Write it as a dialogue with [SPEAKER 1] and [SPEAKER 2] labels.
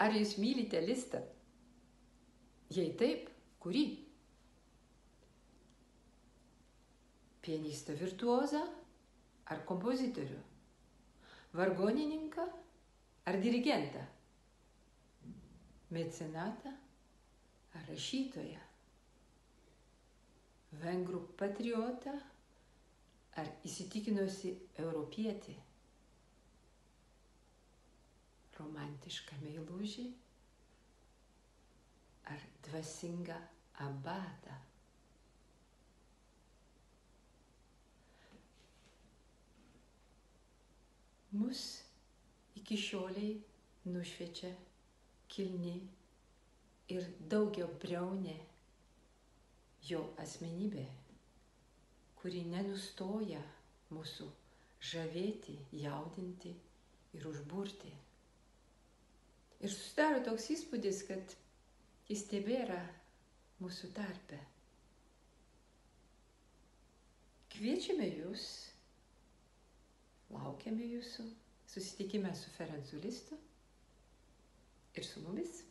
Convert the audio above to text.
[SPEAKER 1] Ar jūs mylite Listą? Jei taip, kurį? Pianistą virtuozą ar kompozitorių? Vargonininką ar dirigentą? Mecenatą ar rašytoją? Vengrų patriotą ar įsitikinusi europietį? Romantišką meilužį ar dvasingą abatą? Mus iki šioliai nušviečia kilni ir daugiabriaunė jo asmenybė, kuri nenustoja mūsų žavėti, jaudinti ir užburti. Ir susidaro toks įspūdis, kad jis tebėra mūsų tarpe. Kviečiame jūs, laukiame jūsų susitikime su Ferencu Listu ir su mumis.